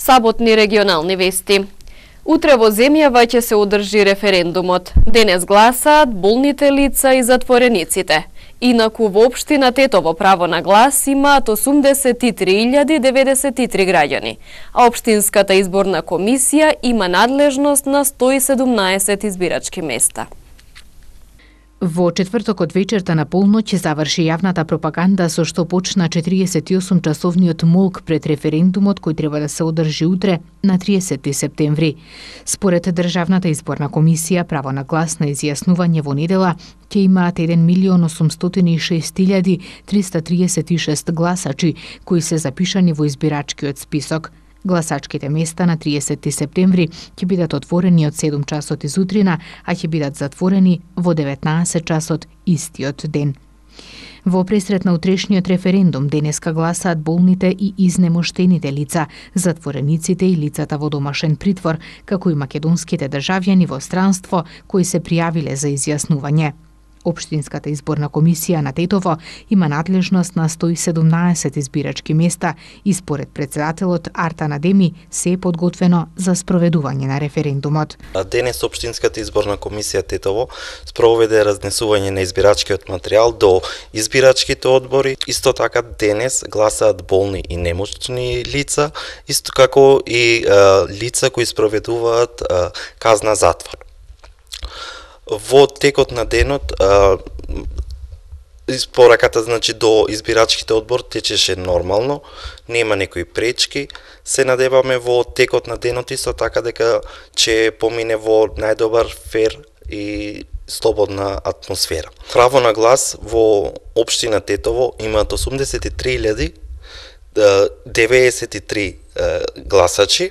Саботни регионални вести. Утре во земјава ќе се одржи референдумот. Денес гласаат болните лица и затворениците. Инаку во општина Тетово право на глас имаат 83.093 граѓани, а општинската изборна комисија има надлежност на 117 избирачки места. Во четвртокот вечерта на полноќ ќе заврши јавната пропаганда со што почна 48-часовниот молк пред референдумот кој треба да се одржи утре на 30 септември. Според Државната изборна комисија, право на глас на изјаснување во недела ќе имаат 1.006.336 гласачи кои се запишани во избирачкиот список. Гласачките места на 30 септември ќе бидат отворени од 7 часот изутрина, а ќе бидат затворени во 19 часот истиот ден. Во пресрет на утрешниот референдум денеска гласаат болните и изнемоштените лица, затворениците и лицата во домашен притвор, како и македонските државјани во странство кои се пријавиле за изјаснување. Општинската изборна комисија на Тетово има надлежност на 117 избирачки места и според председателот Артан Адеми се е подготвено за спроведување на референдумот. Денес Општинската изборна комисија Тетово спроведе разнесување на избирачкиот материјал до избирачките одбори. Исто така денес гласаат болни и немощни лица, исто како и лица кои спроведуваат казна затвор. Во текот на денот пораката до избирачките одбор течеше нормално, нема некои пречки. Се надеваме во текот на денот исто така дека ќе помине во најдобар, фер и слободна атмосфера. Право на глас во општина Тетово имаат 83.093 гласачи.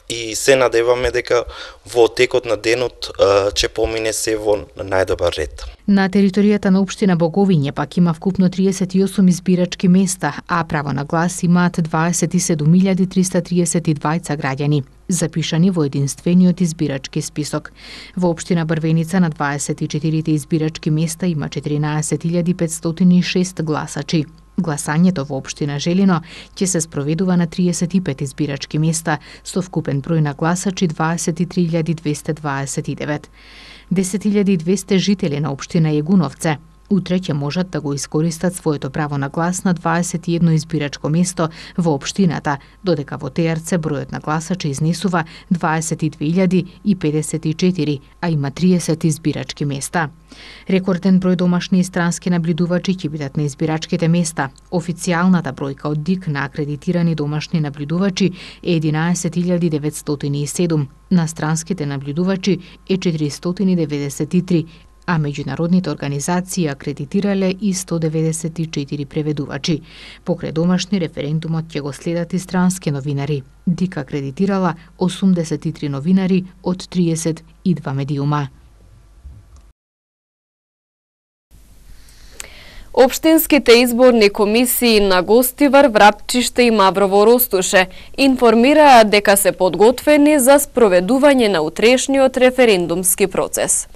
И се надеваме дека во текот на денот ќе помине се во најдобар ред. На територијата на општина Боговиње пак има вкупно 38 избирачки места, а право на глас имаат 27.332 граѓани, запишани во единствениот избирачки список. Во општина Брвеница на 24 избирачки места има 14.506 гласачи. Гласањето во општина Желино ќе се спроведува на 35 избирачки места со вкупен број на гласачи 23.229. 10.200 жители на општина Јегуновце утре ќе можат да го искористат своето право на глас на 21 избирачко место во општината, додека во Теарце бројот на гласачи изнесува 22.054, а има 30 избирачки места. Рекорден број домашни и странски наблюдувачи ќе бидат на избирачките места. Официјалната бројка од ДИК на акредитирани домашни наблюдувачи е 11.907, на странските наблюдувачи е 493, а меѓународните организации акредитирале и 194 преведувачи. Покрај домашни референдумот ќе го следат и странски новинари. ДИК акредитирала 83 новинари од 32 медиума. Општинските изборни комисии на Гостивар, Врапчиште и Маврово Ростуше информираат дека се подготвени за спроведување на утрешниот референдумски процес.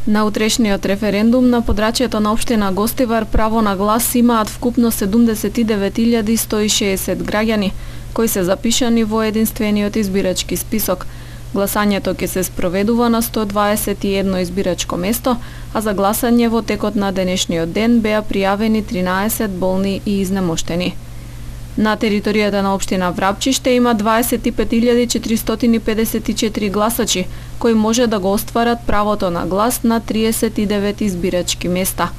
На утрешниот референдум на подрачјето на општина Гостивар право на глас имаат вкупно 79.160 граѓани, кои се запишани во единствениот избирачки список. Гласањето ќе се спроведува на 121 избирачко место, а за гласање во текот на денешниот ден беа пријавени 13 болни и изнемоштени. На територијата на општина Врапчиште има 25.454 гласачи, кои може да го остварат правото на глас на 39 избирачки места.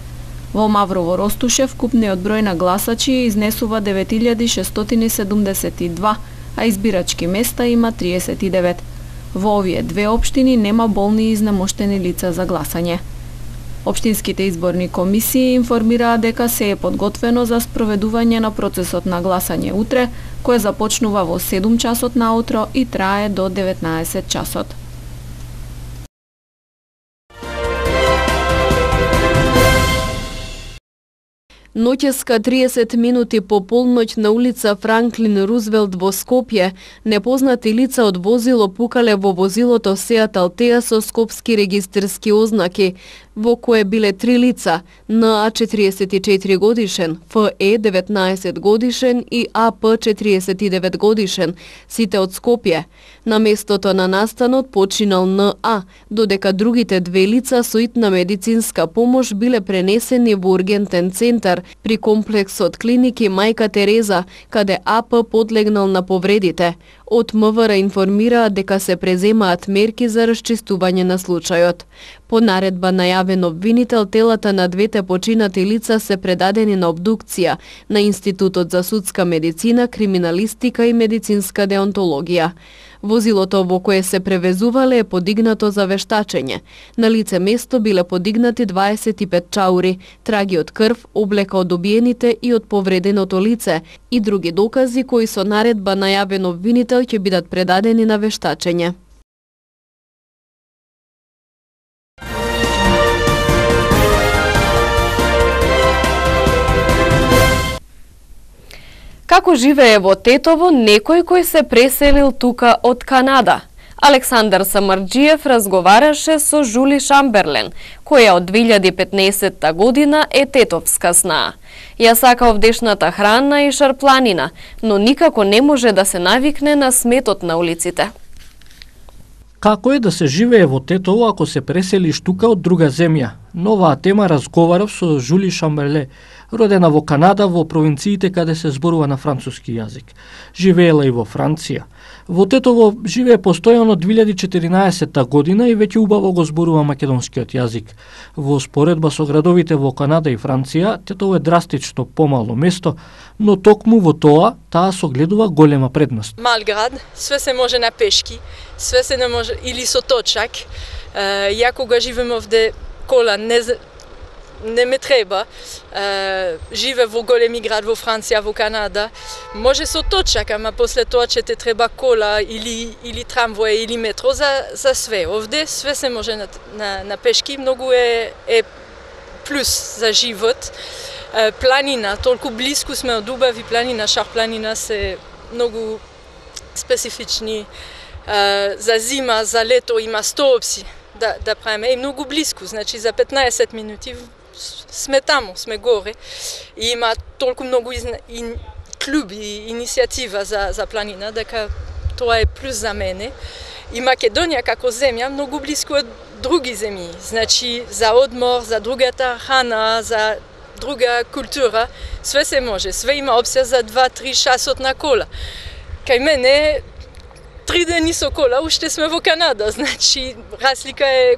Во Маврово Ростуше вкупниот број на гласачи изнесува 9.672, а избирачки места има 39. Во овие две општини нема болни и изнемоштени лица за гласање. Општинските изборни комисии информираа дека се е подготвено за спроведување на процесот на гласање утре, кој започнува во 7 часот наутро и трае до 19 часот. Ноќеска 30 минути по полноќ на улица Франклин Рузвелт во Скопје, непознати лица од возило пукале во возилото Сеат Алтеа со скопски регистерски ознаки. во кое биле 3 лица, НА 44 годишен, ФЕ 19 годишен и АП 49 годишен, сите од Скопје. На местото на настанот починал НА, додека другите 2 лица со итна медицинска помош биле пренесени во ургентен центар при комплексот клиники Мајка Тереза, каде АП подлегнал на повредите. Од МВР информираа дека се преземаат мерки за расчистување на случајот. По наредба најавен обвинител, телата на двете починати лица се предадени на обдукција на Институтот за судска медицина, криминалистика и медицинска деонтологија. Возилото во кое се превезувале е подигнато за вештачење. На лице место биле подигнати 25 чаури, траги од крв, облека од убиените и од повреденото лице и други докази кои со наредба најавен обвинител ќе бидат предадени на вештачење. Како живее во Тетово некој кој се преселил тука од Канада? Александар Самарџиев разговараше со Жули Шамберлен, која од 2015 година е тетовска снаа. Ја сака овдешната храна и шарпланина, но никако не може да се навикне на сметот на улиците. Како е да се живее во Тетово ако се преселиш тука од друга земја? Новаа тема разговарав со Жули Шамберле, родена во Канада, во провинциите каде се зборува на француски јазик. Живеела и во Франција. Во Тетово живее постојано од 2014 година и веќе убаво го зборува македонскиот јазик. Во споредба со градовите во Канада и Франција, Тетово е драстично помало место, но токму во тоа, таа согледува голема предност. Мал град, све се може на пешки, све се не може или со точак. Ја кога живеам овде, кола не ме треба. Живе во големи град во Франција, во Канада. Може со точак, ама после тоа ќе те треба кола или трамвој или метро за све. Овде све се може на пешки, многу е плюс за живот. Планина, толку близко сме од убави планина, шарпланина се многу специфични. За зима, за лето има 100 опции да правиме и многу близко, значи за 15 минути сме таму, сме горе и има толку многу клуби, иницијатива за планина, дека тоа е плюс за мене. И Македонија како земја многу близко од други земји, значи за одмор, за другата храна, за друга култура, све се може, све има опција за 2-3 часот на кола. Кај мене 3 дени со кола, уште сме во Канада, значи разлика е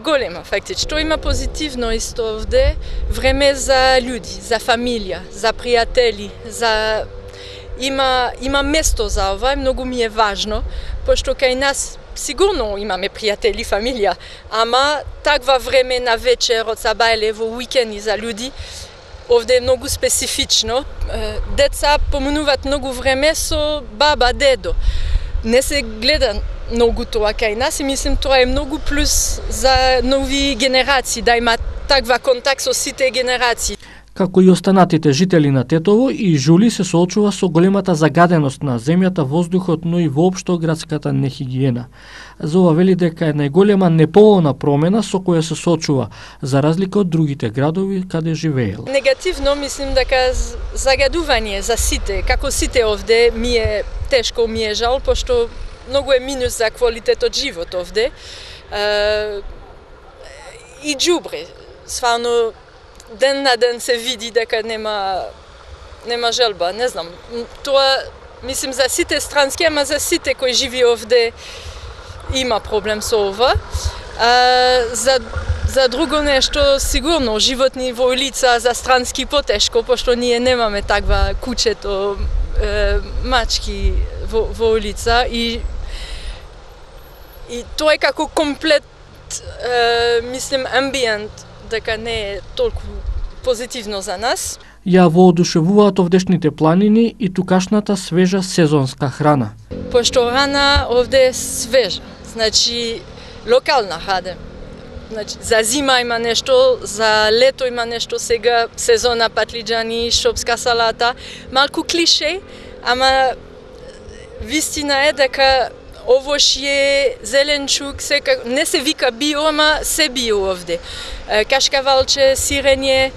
голема фактички. Што има позитивно исто овде, време за луѓи, за фамилија, за пријатели, има место за ова, многу ми е важно, пошто кај нас сигурно имаме пријатели, фамилија, ама таква време на вечер, од сабајле, во уикенди за луѓи, овде е многу специфично. Деца поминуваат многу време со баба, дедо. Не се гледа многу тоа кај нас и мислим тоа е многу плюс за нови генерации, да има таква контакт со сите генерации. Како и останатите жители на Тетово, и Жули се соочува со големата загаденост на земјата, воздухот, но и воопшто градската нехигиена. За ова вели дека е најголема неповолна промена со која се соочува, за разлика од другите градови каде живеел. Негативно мислим дека загадување за сите, како сите овде, ми е тешко, ми е жал, пошто многу е минус за квалитетот живот овде. И џубре, стварно ден на ден се види дека нема желба, не знам. Тоа, мислим, за сите странски, ама за сите кои живи овде има проблем со ова. За друго нешто, сигурно, животни во улица, за странски потешко, пошто ние немаме таква кучето, мачки во улица и тоа е како комплет, мислим, амбиент, дека не е толку позитивно за нас. Ја воодушевуваат овдешните планини и тукашната свежа сезонска храна. Пошто храна овде е свежа, значи локална храна. Значи, за зима има нешто, за лето има нешто, сега сезона патлиџани, шопска салата, малку клише, ама вистина е дека овошје, зеленчук, не се вика био, ама се био овде. Кашкавалче, сирење,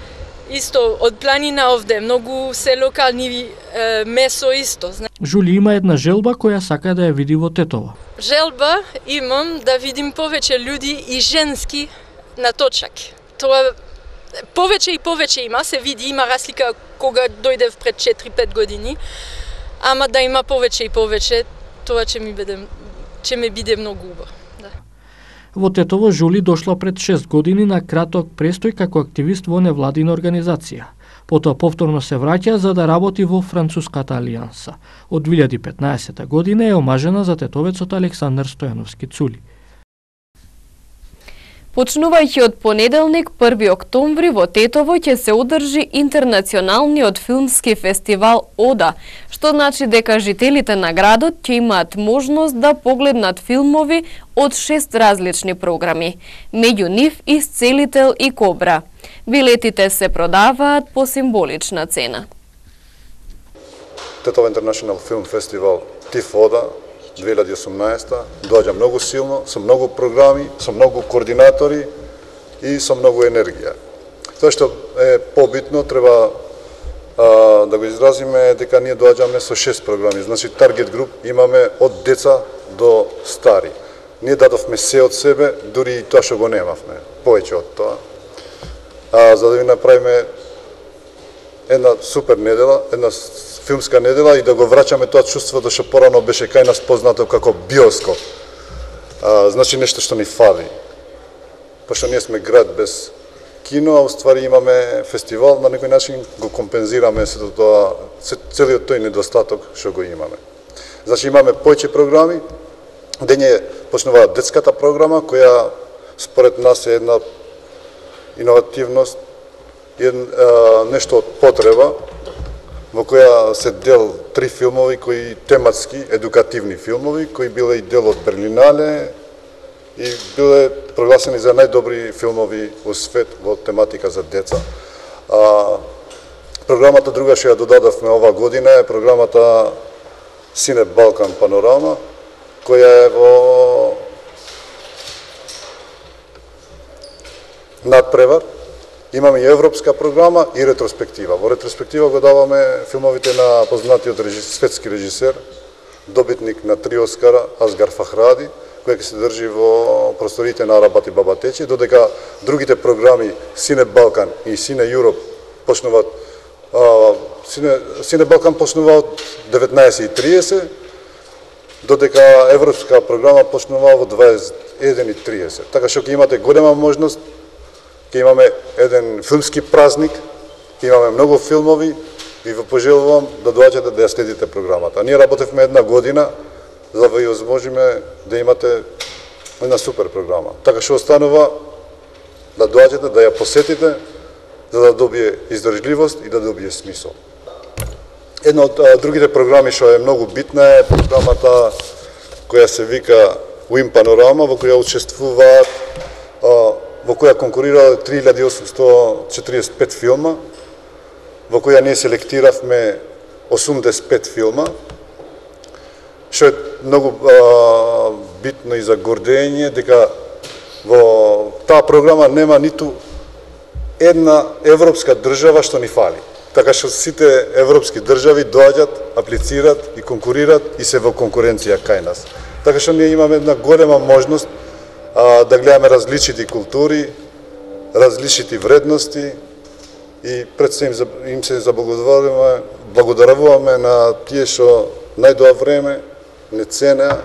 исто од планина овде, многу се локални месо исто. Жули има една желба која сака да ја види во Тетово. Желба имам да видим повеќе луѓе и женски на точак. Тоа повеќе и повеќе има, се види, има разлика кога дојдев пред 4-5 години, ама да има повеќе и повеќе, тоа ќе ми биде многу убаво. Да. Во Тетово Жули дошла пред 6 години на краток престој како активист во невладина организација. Потоа повторно се враќа за да работи во Француската алијанса. Од 2015 година е омажена за тетовецот Александар Стојановски Цули. Почнувајќи од понеделник, 1 октомври, во Тетово ќе се одржи интернационалниот филмски фестивал ОДА, што значи дека жителите на градот ќе имаат можност да погледнат филмови од 6 различни програми, меѓу нив Исцелител и Кобра. Билетите се продаваат по символична цена. Тетово International Film Festival ТИФ ОДА 2018 доаѓа многу силно, со многу програми, со многу координатори и со многу енергија. Тоа што е побитно, треба да го изразиме дека ние доаѓаме со 6 програми. Значи, таргет груп имаме од деца до стари. Ние дадовме се од себе, дури и тоа што го немавме, повеќе од тоа. За да ви направиме една супер недела, една филмска недела и да го враќаме тоа чувството што порано беше кај нас познато како биоскоп. Значи нешто што ни фали. Пошто ние сме град без кино, а уствари имаме фестивал, на некој начин го компензираме целиот тој недостаток што го имаме. Значи имаме повеќе програми, дење почнува детската програма, која според нас е една иновативност, нешто од потреба, во која се дел 3 филмови кои тематски, едукативни филмови, кои биле и дел од Берлинале и биле прогласени за најдобри филмови во свет во тематика за деца. Програмата друга што ја додадавме ова година е програмата Сине Балкан Панорама, која е во надпревар. Имаме и европска програма и ретроспектива. Во ретроспектива го даваме филмовите на познатиот светски режисер, добитник на 3 Оскара, Асгар Фахради, која ќе се држи во просторите на Арабат и Бабатечи, додека другите програми Сине Балкан и Сине Юроп почнуваат. Сине Балкан почнува од 19:30, додека европска програма почнува во 21:30. Така што ќе имате голема можност, ќе имаме еден филмски празник, ќе имаме многу филмови и ви пожелувам да доаѓате да ја следите програмата. Ние работевме една година за да ви возможиме да имате една супер програма. Така што останува да доаѓате, да ја посетите, за да добие издржливост и да добие смисол. Една од другите програми што е многу битна е програмата која се вика Уим Панорама, во која учествуваат во која конкурираа 3845 филма, во која ние селектиравме 85 филма, што е многу битно и за гордење, дека во таа програма нема ниту една европска држава што ни фали. Така што сите европски држави доаѓат, аплицираат и конкурираат и се во конкуренција кај нас. Така што ние имаме една голема можност да гледаме различити култури, различити вредности и пред се им се заблагодаруваме на тие што најдоа време не ценеа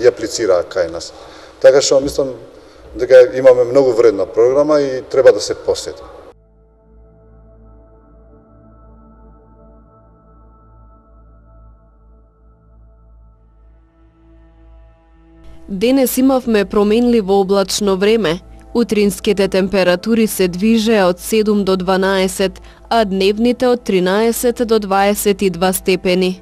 и аплицираа кај нас. Така што мислам дека имаме многу вредна програма и треба да се посети. Денес имавме променливо облачно време. Утринските температури се движеа од 7 до 12, а дневните од 13 до 22 степени.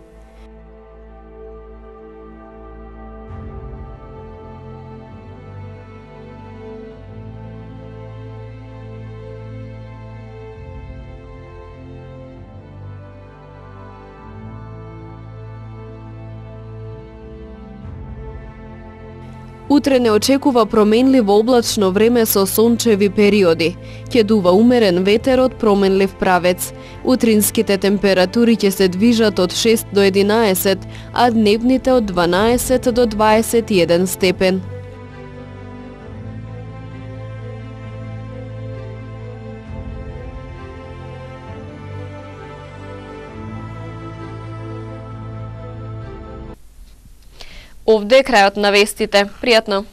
Утре не очекува променливо облачно време со сончеви периоди. Ќе дува умерен ветер од променлив правец. Утринските температури ќе се движат од 6 до 11, а дневните од 12 до 21 степен. Овде е крајот на вестите. Пријатно!